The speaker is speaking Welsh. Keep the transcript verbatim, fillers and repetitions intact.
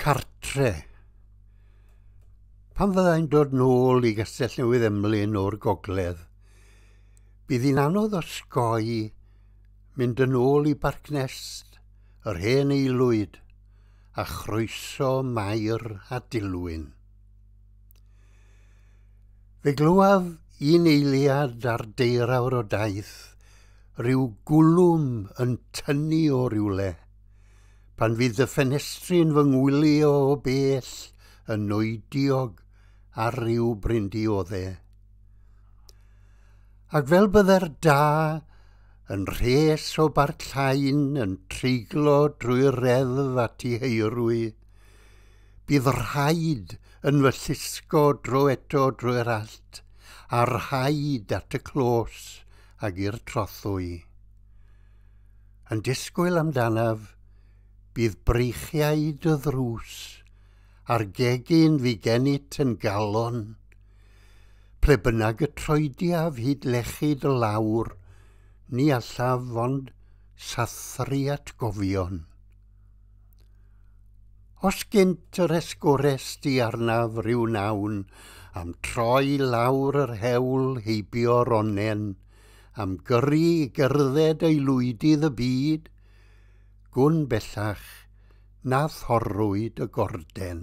Cartre. Pan fyddai'n dod nôl i Gastell Newydd Emlyn o'r gogledd, bydd hi'n anodd osgoi mynd yn ôl i Barc Nest, yr hen aelwyd, a chroeso Mair a Dilwyn. Fe glywaf un eiliad ar deirawr o daith, rhyw gwlwm yn tynnu o rywle, pan fydd y ffenestri'n fy ngwylio o bell yn noidiog ar ryw brindioddau. Ac fel bydde'r da yn rhes o Barc Llain yn treiglo drwy'r reddf at ei heirwy, bydd rhaid yn fy llusgo dro eto drwy'r allt, a rhaid at y clos ag i'r trothwy. Yn disgwyl amdanaf, bydd breichiau dy ddrws, a'r gegin fu gennyt yn galon. Ple bynnag y troediaf hyd lechu dy lawr, ni allaf ond sathru atgofion. Os gynt yr esgores di arnaf rhyw nawn, am troi lawr yr hewl heibio'r onnen, am gyrru i gerdded aelwydydd y byd, gwn bellach na thorrwyd y gorden.